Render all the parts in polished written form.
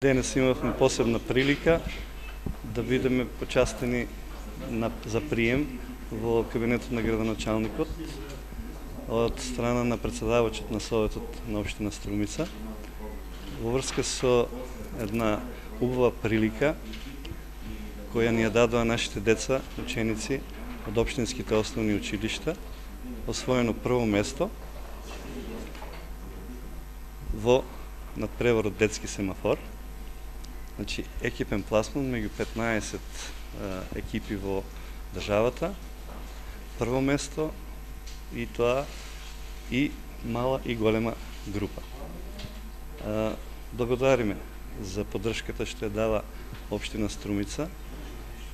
Денес имавме посебна прилика да бидеме почастени за прием во кабинетот на градоначалникот од страна на председавачот на Советот на општина Струмица во врска со една убава прилика која ни ја дадоа нашите деца, ученици од општинските основни училишта, освоено прво место во надпреварот детски семафор. Значи, екипен пласман меѓу 15 екипи во државата, прво место и тоа и мала и голема група. Благодариме за поддршката што ја дава општина Струмица,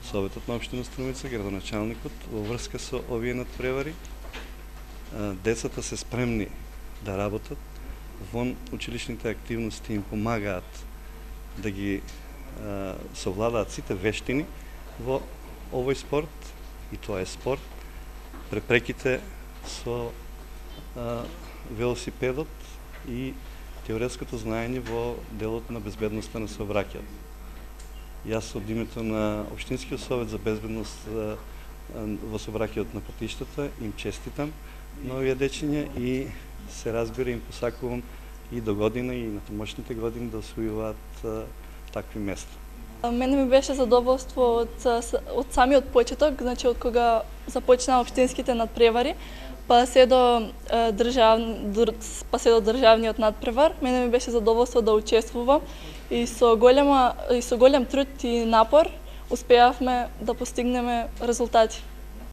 Советот на општина Струмица, градоначалникот во врска со овие надпревари. Децата се спремни да работат, вон училишните активности им помагаат да ги совладаат сите вештини во овој спорт, и тоа е спорт. Препреките со велосипедот и теоретското знаење во делот на безбедноста на сообраќајот. Јас од името на Општинскиот совет за безбедност во сообраќајот на патиштата им честитам на овие дечиња и се разбира им посакувам и до година и на томошните години да освојуваат такви места. Мене ми беше задоволство од самиот почеток, значи од кога започнаа општинските надпревари, па се до државниот надпревар. Мене ми беше задоволство да учествувам и со голем труд и напор успеавме да постигнеме резултати.